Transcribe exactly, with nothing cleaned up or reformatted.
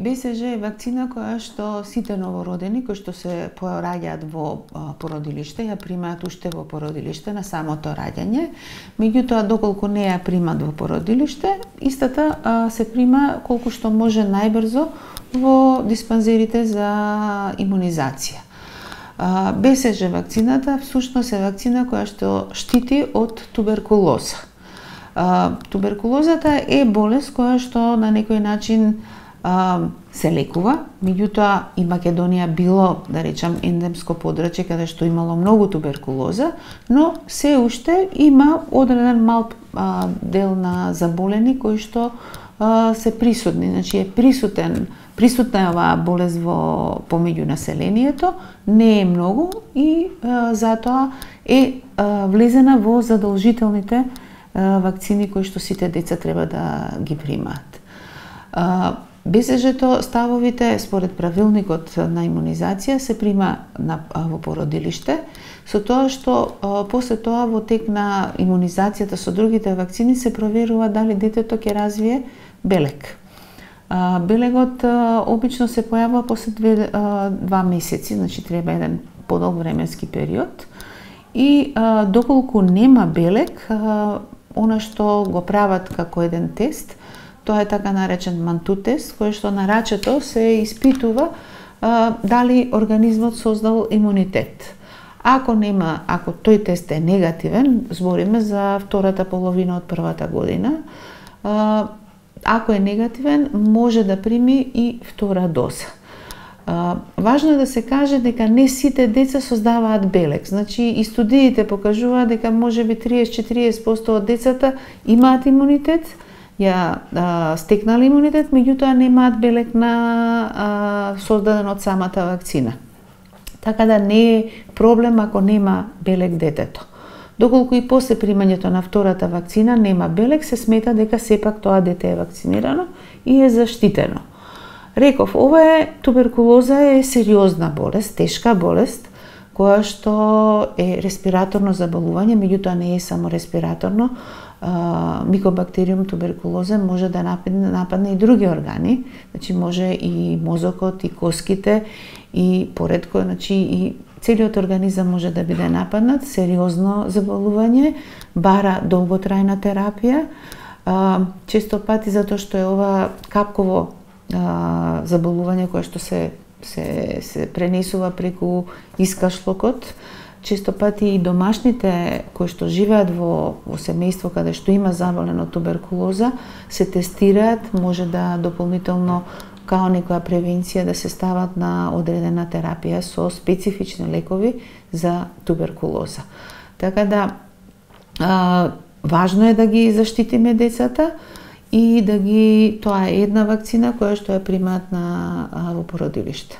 Бе Се Же е вакцина која што сите новородени кои што се пораѓаат во породилиште ја примаат уште во породилиште на самото раѓање. Меѓутоа, доколку не ја примат во породилиште, истата се прима колку што може најбрзо во диспанзерите за имунизација. Бе Се Же вакцината всушност е вакцина која што штити од туберкулоза. Туберкулозата е болест која што на некој начин се лекува, меѓутоа и Македонија било, да речам, ендемско подрачје каде што имало многу туберкулоза, но се уште има одреден мал дел на заболени кои што се присутни, значи е присутен, присутна е оваа болест во помеѓу населението, не е многу и затоа е влезена во задолжителните вакцини кои што сите деца треба да ги примаат. Бе Се Же-то ставовите според правилникот на имунизација се прима на, во породилиште, со тоа што после тоа во тек на имунизацијата со другите вакцини се проверува дали детето ќе развие белег. Белегот обично се појавува после две, два месеци, значи треба еден подолг временски период. И доколку нема белег, она што го прават како еден тест, тоа е така наречен манту тест, кој што на рачето се испитува а, дали организмот создал имунитет. Ако нема, ако тој тест е негативен, збориме за втората половина од првата година, а, ако е негативен, може да прими и втора доза. А, важно е да се каже дека не сите деца создаваат белег. Значи, и студиите покажуваат дека можеби триесет до четириесет проценти од децата имаат имунитет, ја а, стекнали имунитет, меѓутоа немаат белег на а, создаден од самата вакцина. Така да не е проблем ако нема белег детето. Доколку и после примањето на втората вакцина нема белег, се смета дека сепак тоа дете е вакцинирано и е заштитено. Реков, ова е туберкулоза е сериозна болест, тешка болест, која што е респираторно заболување, меѓутоа не е само респираторно. Микобактериум туберкулоза може да нападне, нападне и други органи, значи може и мозокот, и коските, и поредко, значи и целиот организам може да биде нападнат, сериозно заболување, бара долготрајна терапија, често пати затоа што е ова капково заболување кое што се, се, се пренесува преку искашлокот. Често пати и домашните кои што живеат во, во семејство каде што има заболено туберкулоза се тестираат, може да дополнително као некоја превенција да се стават на одредена терапија со специфични лекови за туберкулоза. Така да а, важно е да ги заштитиме децата и да ги, тоа е една вакцина која што ја примаат на во породилиште.